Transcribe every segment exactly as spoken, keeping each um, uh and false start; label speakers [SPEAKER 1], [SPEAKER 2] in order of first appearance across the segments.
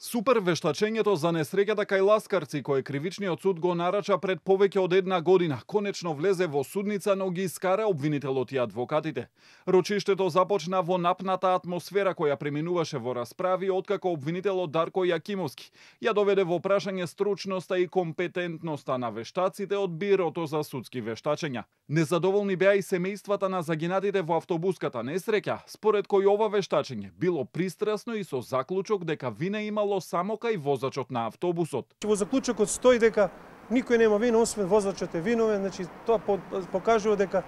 [SPEAKER 1] Супер вештачењето за несреќата кај ласкарци, кој кривичниот суд го нарача пред повеќе од една година, конечно влезе во судница, но ги искара обвинителот и адвокатите. Рочиштето започна во напната атмосфера која преминуваше во расправи откако обвинителот Дарко Јакимовски ја доведе во прашање стручноста и компетентноста на вештаците од Бирото за судски вештачења. Незадоволни беа и семејствата на загинатите во автобуската несреќа, според кој ова вештачење било пристрасно и со заклучок дека вина имало само кај возачот на автобусот.
[SPEAKER 2] Во заклучокот стои дека никој нема вина освен возачот е виновен, значи тоа покажува дека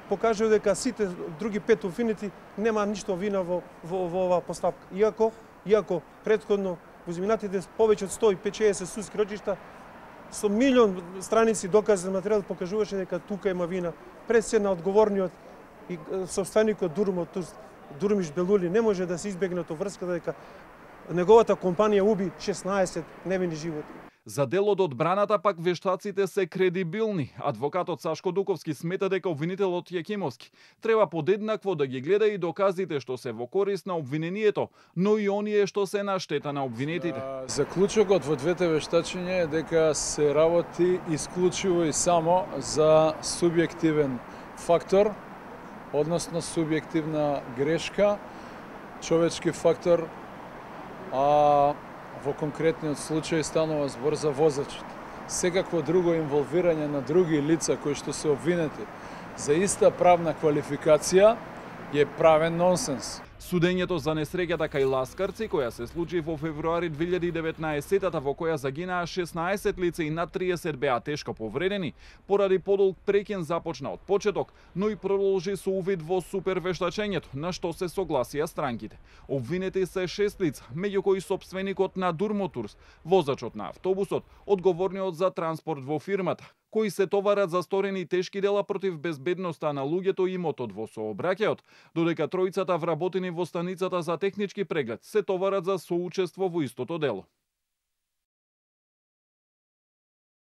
[SPEAKER 2] покажува дека сите други пет обвинети нема ништо вина во во, во оваа постапка. Иако иако претходно во изминатите повеќе од сто и педесет судски рочишта со милион страници доказен материјал покажуваше дека тука има вина. Пред се на одговорниот и собственикот Дурмотурс Дурмиш Белули не може да се избегне од врската дека неговата компанија уби шеснаесет невини животи.
[SPEAKER 1] За дел од одбраната пак вештаците се кредибилни. Адвокатот Сашко Дуковски смета дека обвинителот Јакимовски треба подеднакво да ги гледа и доказите што се во корист на обвинението, но и оние што се на штета на обвинетите.
[SPEAKER 3] Заклучокот во двете вештачења е дека се работи исклучиво и само за субјективен фактор, односно субјективна грешка, човечки фактор, а во конкретниот случај станува збор за возачот. Секакво друго инволвирање на други лица кои што се обвинети за иста правна квалификација е правен нонсенс.
[SPEAKER 1] Судењето за несреќата кај ласкарци, која се случи во февруари две илјади и деветнаесетта, во која загинаа шеснаесет лица и над триесет беа тешко повредени, поради подолг преќен започна од почеток, но и продолжи со увид во супер вештачењето, на што се согласија странките. Обвинети се шест лица, меѓу кои собственикот на Дурмотурс, возачот на автобусот, одговорниот за транспорт во фирмата, кои се товарат за сторени тешки дела против безбедноста на луѓето и имотот во сообраќајот, додека тројцата вработени во станицата за технички преглед се товарат за соучество во истото дело.